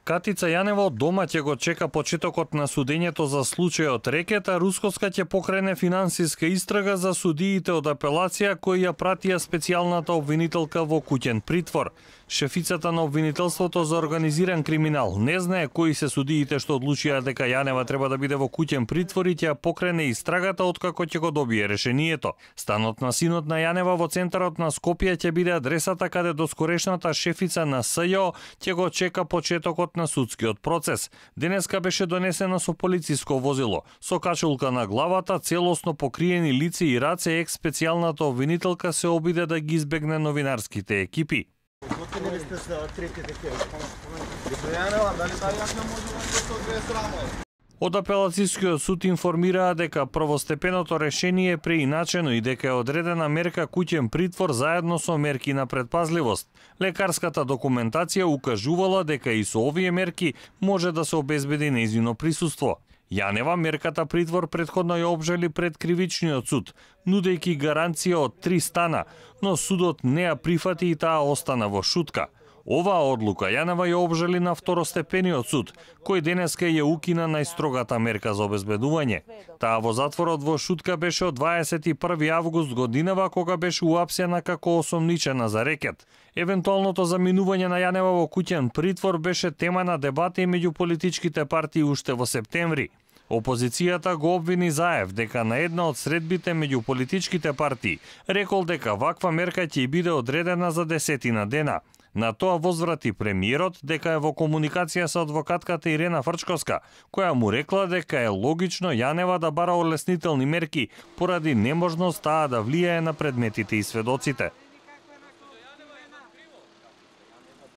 Катица Јанева од дома ќе го чека почетокот на судењето за случајот Рекет, а Рускоска ќе покрене финансиска истрага за судиите од апелација кои ја пратија специјалната обвинителка во куќен притвор. Шефицата на обвинителството за организиран криминал не знае кои се судиите што одлучија дека Јанева треба да биде во куќен притвор и ќе покрене истрагата откако ќе го добие решението. Станот на синот на Јанева во центарот на Скопје ќе биде адресата каде доскорешната шефица на СЈО ќе го чека почетокот на судскиот процес. Денеска беше донесена со полициско возило. Со качулка на главата, целосно покриени лице и раце, екс-специјалната обвинителка се обиде да ги избегне новинарските екипи. Од апелацијскиот суд информираа дека првостепеното решение е преиначено и дека е одредена мерка куќен притвор заедно со мерки на предпазливост. Лекарската документација укажувала дека и со овие мерки може да се обезбеди нејзино присуство. Јанева мерката притвор претходно ја обжали пред кривичниот суд, нудејќи гаранција од 3 стана, но судот не ја прифати и таа остана во шутка. Оваа одлука Јанева ја обжали на второстепениот суд, кој денеска ја укина најстрогата мерка за обезбедување. Таа во затворот во шутка беше од 21 август годинава, кога беше уапсена како осомничена за рекет. Евентуалното заминување на Јанева во куќен притвор беше тема на дебата и меѓу политичките партии уште во септември. Опозицијата го обвини Заев дека на една од средбите меѓу политичките партии рекол дека ваква мерка ќе биде одредена за 10 дена. На тоа возврати премиерот дека е во комуникација со адвокатката Ирена Фрчковска, која му рекла дека е логично Јанева да бара олеснителни мерки поради неможност таа да влијае на предметите и сведоците.